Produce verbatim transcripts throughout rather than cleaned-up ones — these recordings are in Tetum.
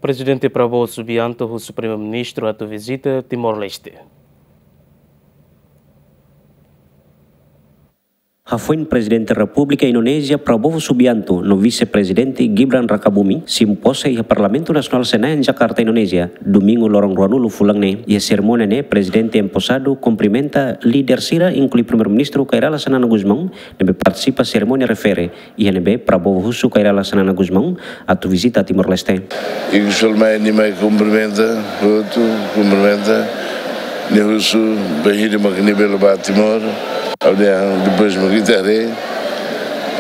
Prezidente Prabowo Subianto husu Primeiru-Ministru atu vizita Timor-Leste. Hafoin Prezidente Repúblika Indonézia Prabowo Subianto no Vise-Prezidente Gibran Rakabuming simu pose iha Parlamentu Nasionál Senayan, Jakarta, Indonézia, Domingu loron ruanulu fulan ne'e. Iha serimónia ne'e, Prezidente emposadu kumprimenta líder sira, inklui Primeiru-Ministru Kay Rala Xanana Gusmão, ne'ebé partisipa serimónia refere, iha ne'ebé Prabowo husu Kay Rala Xanana Gusmão atu vizita Timor-Leste. Ikus fali mai nia mai kumprimenta, hotu kumprimenta, nia husu bainhira mak nia bele bá Timor, ha'u dehan depois mak ita haree,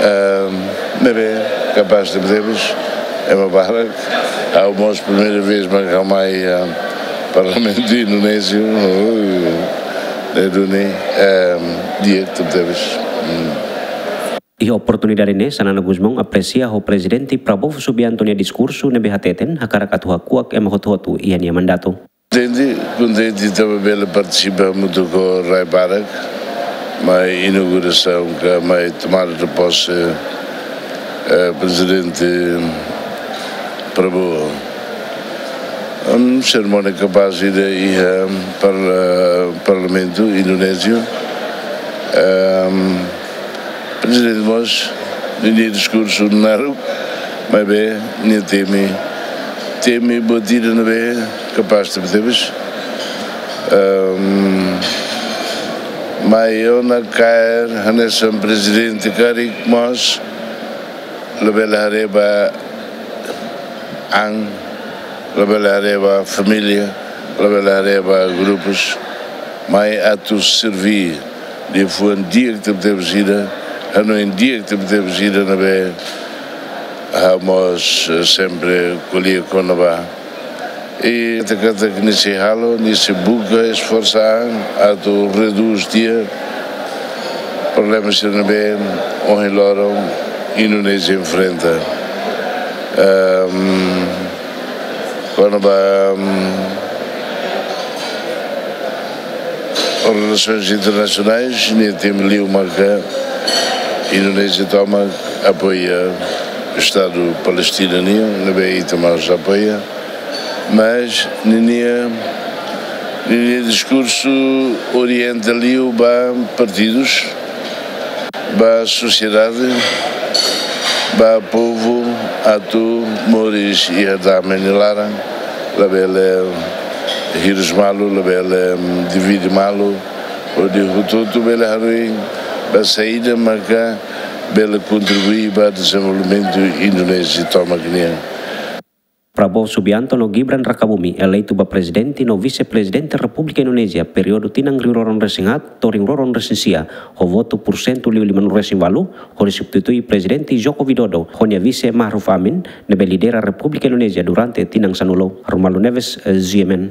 ah, ne'ebé kapás tebetebes, ema barak, ha'u mós primeira vez mak ha'u mai, ah, Parlamentu Indonézia, oh, ne'e duni, ah, di'ak tebetebes. Hmm. Iha oportunidade ne'e, Xanana Gusmão apresia ho Prezidente Prabowo Subianto nia diskursu ne'ebé hateten hakarak atu hakuak ema hotu-hotu iha nia mandatu. Kontente, kontente tanba bele partisipa hamutuk ho rai barak, mai inaugurasaun ka mai tomada de pose, eh, Prezidente Prabowo. Em, serimónia kapás ida iha parla-, Parlamentu Indonézia. Em, Prezidente mós, ninia diskursu naruk, maibé nia temi, temi buat ida ne'ebé kapás tebetebes. Em, mai ona kaer hanesan Prezidente karik mós, labele haree ba an, labele haree ba família, labele haree ba grupus, mai atu serví liafuan di'ak tebetebes ida, hanoin di'ak tebetebes ida ne'ebé ha'u mós, eh, sempre ko'alia kona-ba. I katak nia sei halo, nia sei buka esforsa an atu redús tiha problema sira ne'ebé ohin loron Indonézia enfrenta. Ehm, kona-ba, ehm, relasoens internasionais, nia temi liu maka Indonézia tomak apoia Estadu Palestina nian, ne'ebé ita mós apoia. Mas ninia, ninia diskursu orienta liu ba partidus, ba sosiedade, ba povu atu moris iha dame nia laran, labele hirus malu, labele, mm, divide malu, hodi hotu-hotu bele hanoin ba saida maka bele kontribui ba dezenvolvimentu Indonézia tomak nian. Prabowo Subianto no Gibran Rakabuming eleitu ba Prezidente no Vise-Prezidente Repúblika Indonézia períodu tinan rihun rua ruanulu-resin-haat to'o rihun rua ruanulu-resin-sia, ho votu pursentu liu limanulu-resin-ualu, hodi substitui Prezidente Joko Widodo ho nia vise Ma'ruf Amin, ne'ebé lidera Repúblika Indonézia durante tinan sanulu. Romualdo Neves, eh, G M N.